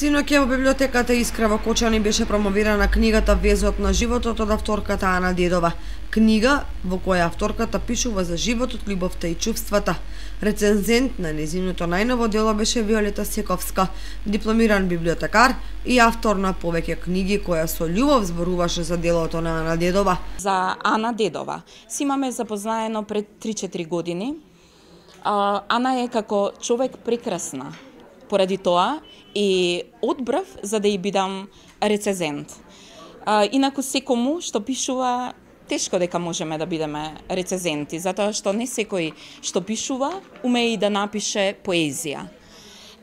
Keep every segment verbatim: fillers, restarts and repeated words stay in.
Синоќа во библиотеката Искра во Кочани беше промовирана книгата Везот на животот од авторката Ана Дедова. Книга во која авторката пишува за животот, љубовта и чувствата. Рецензент на нејзиното најново дело беше Виолета Сековска, дипломиран библиотекар и автор на повеќе книги, која со љубов зборуваше за делото на Ана Дедова. За Ана Дедова си имаме запознаено пред три-четири години. Ана е како човек прекрасна. Поради тоа и одбрав за да ја бидам рецензент. А, инаку секому што пишува, тешко дека можеме да бидеме рецензенти, затоа што не секој што пишува уме и да напише поезија.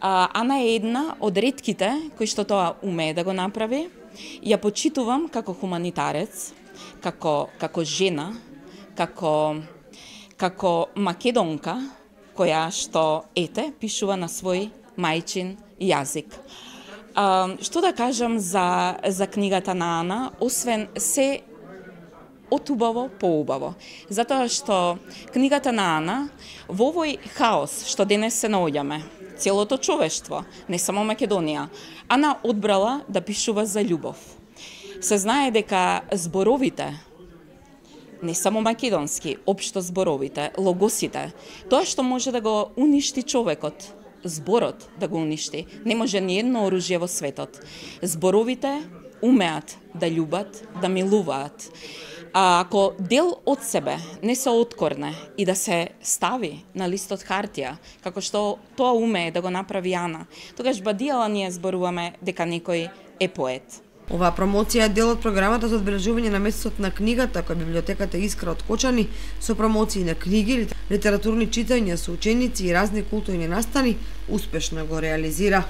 А, Ана е една од ретките кои што тоа уме да го направи. Ја почитувам како хуманитарец, како како жена, како како македонка која што ете пишува на свој мајчин јазик. А, што да кажам за, за книгата на Ана, освен се отубаво поубаво. Затоа што книгата на Ана во овој хаос што денес се наоѓаме, целото човештво, не само Македонија, Ана одбрала да пишува за љубов. Се знае дека зборовите, не само македонски, општо зборовите, логосите, тоа што може да го уништи човекот, зборот да го уништи. Не може ни едно оружје во светот. Зборовите умеат да љубат, да милуваат. А ако дел од себе не се откорне и да се стави на листот хартија, како што тоа умее да го направи Ана, тогаш бадијала ние зборуваме дека некој е поет. Оваа промоција е дел од програмата за одбележување на месецот на книгата која библиотеката Искра од Кочани со промоции на книги, литературни читања со ученици и разни културни настани успешно го реализира.